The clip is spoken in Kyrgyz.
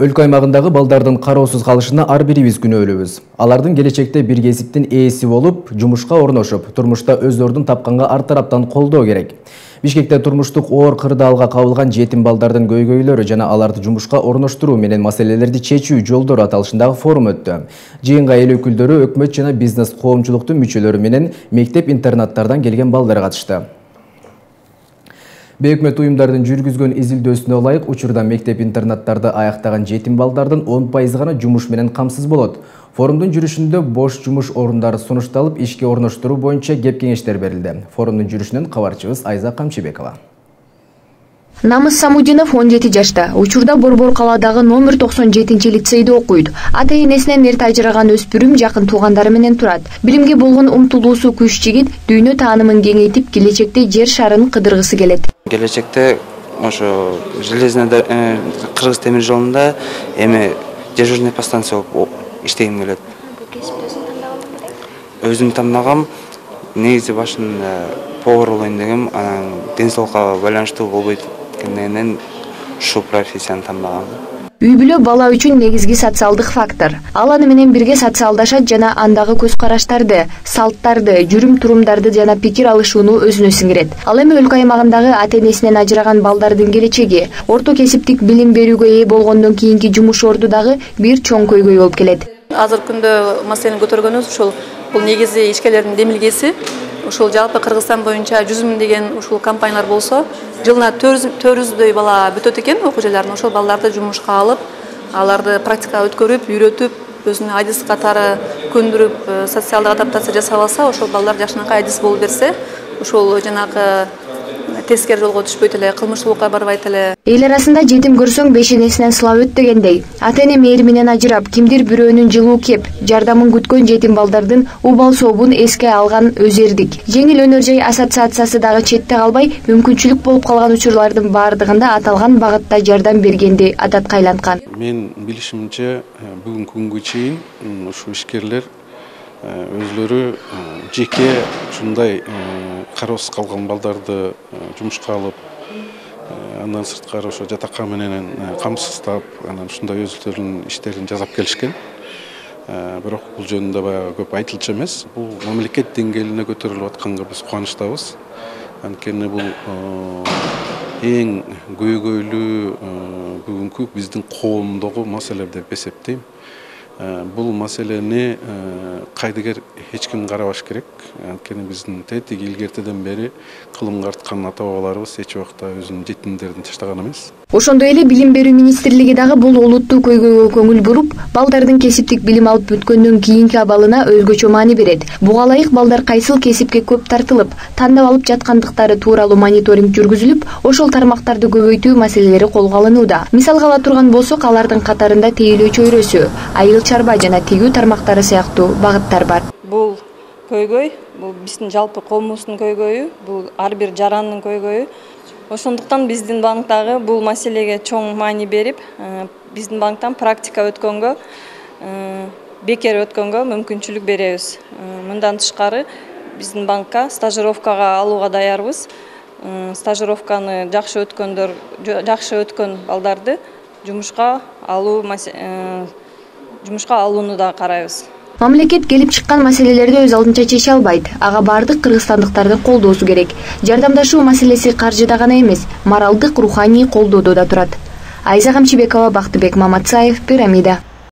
Өлкө аймагындагы балдардын кароосуз калышына ар бирибиз күнөөлүүбүз. Алардын келечекте бир кесиптин ээси болуп, жумушка орношуп, турмушта өз ордун тапканга ар тараптан колдоо керек. Бишкекте турмуштук оор кырдаалга кабылган жетим балдардын көйгөйлөрү жана аларды жумушка орноштуруу менен маселелерди чечүү жолдору аталышындагы форум өттү. Жыйынга эл өкүлдөрү, өкмөт жана бизнес коомчулуктун мүчөлөрү менен мектеп-интернаттардан келген балдар катышты. Бейөкмөт уюмдардын жүргүзгөн изилдөөсүнө ылайык, учурда мектеп-интернаттарды аяктаган жетим балдардын 10% гана жумуш менен камсыз болот. Форумдун жүрүшүндө бош жумуш орундары сунушталып, ишке орноштуруу боюнча кеп-кеңештер берилди. Форумдун жүрүшүнөн кабарчыбыз Айза Камчыбекова. Намыс Самудинов 17 жашта. Учурда Борбор калаадагы номер 97-лицейде окуйт. Ата-энесинен эрте ажыраган өспүрүм жакын туугандары менен турат. Билимге болгон умтулуусу күч жигит дүйнө таанымын кеңейтип, келечекте жер шарын кыдыргысы келет. Келечекте ошо железный Кыргыз темир жолунда дежурный подстанция болуп иштегим келет. Өзүм тандагам, негизи башында повар болоюн дегем, анан ден соолукка байланыштуу болбойт экендигинен ушул профессияны тандагам. Үй-бүлө бала үчүн негизги социалдык фактор. Ал аны менен бирге социалдашат жана андагы көз караштарды, салттарды, жүрүм-турумдарды жана пикир алышууну өзүнө сиңирет. Ал эми өлкө аймагындагы ата-энесинен ажыраган балдардын келечеги, орто кесиптик билим берүүгө ээ болгондон кийинки жумуш орду дагы бир чоң көйгөй болуп келет. Азыркы күндө маселени көтөргөнүбүз ушул бул негизи ишкерлердин демилгеси. Ушул жалпы Кыргызстан боюнча 100 000 деген ушул компаниялар болсо, жылына 400дөй бала бүтөт экен окуу жайларынан. Ошол балдарды жумушка алып, аларды практика өткөрүп, үйрөтүп, өзүнүн айдис катары көндүрүп, социалдык адаптация жасап алса, ошол балдар жашынакай айдис болуп берсе, ушул жанагы тескери жолго түшпөйт эле, кылмыштуулукка барбайт эле. Эл арасында жетим көрсөң бешенесинен сылап өт дегендей. Ата-эне мээри менен ажырап, кимдир бирөөнүн жылуу кеп, жардамын күткөн жетим балдардын убал сообун эске алган Өзердик. Жеңил өнөр жай ассоциациясы дагы четте калбай, мүмкүнчүлүк болуп калган учурлардын баардыгында аталган багытта жардам бергенди адатка айланткан. Мен билишимче бүгүнкү күнгө чейин ушу ишкерлер өзлөрү жеке ушундай кароосуз калган балдарды жумушка алып, андан сырткары ошо жатакка менен камсыздап, анан ушундай өзлөрүнүн иштерин жасап келишкен. Бирок бул жөнүндө баягы көп айтылчу эмес. Бул мамлекет деңгээлине көтөрүлүп атканга биз кубанычтабыз. Анткени бул эң көйгөйлүү бүгүнкү биздин коомдогу маселе деп эсептейм. Бул маселени кайдыгер эч ким карабаш керек. Анткени биздин тетиги илгертеден бери кылымга арткан ата бабаларыбыз эч убакта өзүнүн жетимдерин таштаган эмес. Ошондой эле Билим берүү министрлиги дагы бул олуттуу көйгөйгө көңүл буруп, балдардын кесиптик билим алып бүткөндөн кийинки абалына өзгөчө маани берет. Буга ылайык балдар кайсыл кесипке көп тартылып, тандап алып жаткандыктары тууралуу мониторинг жүргүзүлүп, ошол тармактарды көбөйтүү маселелери колго алынууда. Мисалга ала турган болсок, алардын катарында тейлөө чөйрөсү, айыл чарба жана тигүү тармактары сыяктуу багыттар бар. Бул көйгөй, бул биздин жалпы коомубуздун көйгөйү, бул ар бир жарандын көйгөйү. Ошондуктан биздин банктагы бул маселеге чоң маани берип, биздин банктан практика өткөнгө, бекер өткөнгө мүмкүнчүлүк беребиз. Мындан тышкары биздин банкка стажировкага алууга даярбыз. Стажировканы жакшы өткөн балдарды жумушка алууну да карайбыз. Мамлекет келип чыккан маселелерди өз алдынча чече албайт. Ага бардык кыргызстандыктардын колдоосу керек. Жардамдашуу маселеси каржыда гана эмес, моралдык, руханий колдоодо да турат. Айза Камчыбекова, Бактыбек Маматсаев, Пирамида.